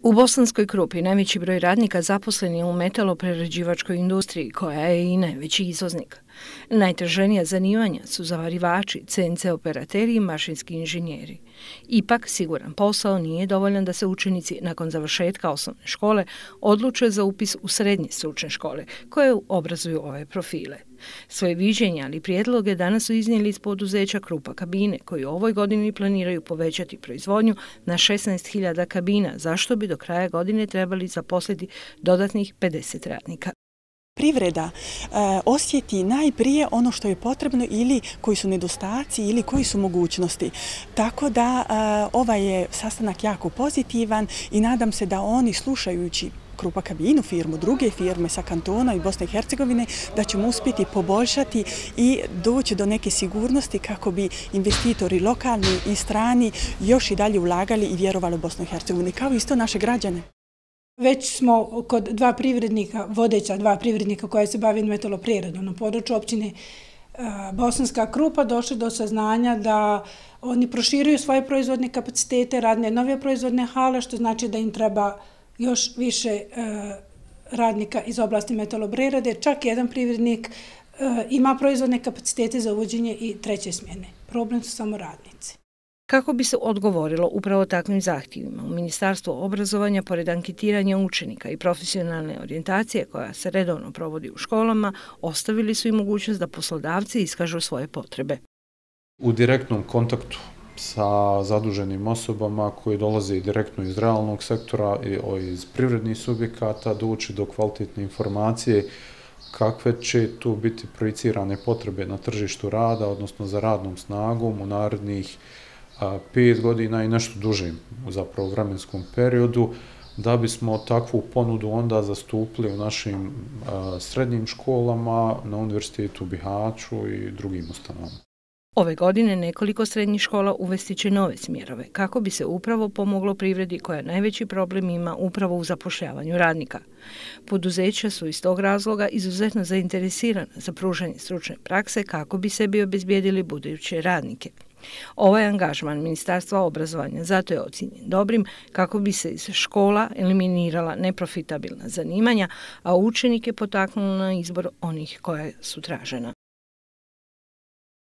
U Bosanskoj Krupi najveći broj radnika zaposlen je u metaloprerađivačkoj industriji, koja je i najveći izvoznik. Najtraženija zanimanja su zavarivači, CNC operateri i mašinski inženjeri. Ipak, siguran posao nije dovoljan da se učenici nakon završetka osnovne škole odluče za upis u srednje stručne škole, koje obrazuju ove profile. Svoje viđenja, ali prijedloge danas su iznijeli iz poduzeća Krupa kabine, koji u ovoj godini planiraju povećati proizvodnju na 16.000 kabina, zašto bi do kraja godine trebali zaposliti dodatnih 50 radnika. Privreda osjeti najprije ono što je potrebno ili koji su nedostaci ili koji su mogućnosti. Tako da ovaj je sastanak jako pozitivan i nadam se da oni, slušajući Krupa kabinu, firmu, druge firme sa kantona i Bosne i Hercegovine, da ćemo uspjeti poboljšati i doći do neke sigurnosti kako bi investitori lokalni i strani još i dalje ulagali i vjerovali u Bosnu i Hercegovini, kao isto naše građane. Već smo kod dva privrednika, vodeća dva privrednika koja se bavi metalopreradom na području općine Bosanska Krupa, došli do saznanja da oni proširuju svoje proizvodne kapacitete, radne nove proizvodne hale, što znači da im treba još više radnika iz oblasti metaloprerade. Čak jedan privrednik ima proizvodne kapacitete za uvođenje i treće smjene. Problem su samo radnici. Kako bi se odgovorilo upravo takvim zahtjevima, u Ministarstvu obrazovanja, pored anketiranja učenika i profesionalne orijentacije koja se redovno provodi u školama, ostavili su i mogućnost da poslodavci iskažu svoje potrebe. U direktnom kontaktu sa zaduženim osobama koji dolaze direktno iz realnog sektora i iz privrednih subjekata doći do kvalitetne informacije kakve će tu biti projicirane potrebe na tržištu rada, odnosno za radnom snagom u narednih 5 godina i nešto dužim zapravo vremenskom periodu, da bismo takvu ponudu onda zastupili u našim srednjim školama, na Univerzitetu u Bihaću i drugim ustanovama. Ove godine nekoliko srednjih škola uvesti će nove smjerove, kako bi se upravo pomoglo privredi koja najveći problem ima upravo u zapošljavanju radnika. Poduzeća su iz tog razloga izuzetno zainteresirana za pružanje stručne prakse kako bi sebi obezbijedili buduće radnike. Ovaj angažman Ministarstva obrazovanja zato je ocijenjen dobrim kako bi se iz škola eliminirala neprofitabilna zanimanja, a učenike potaknulo na izbor onih koja su tražena.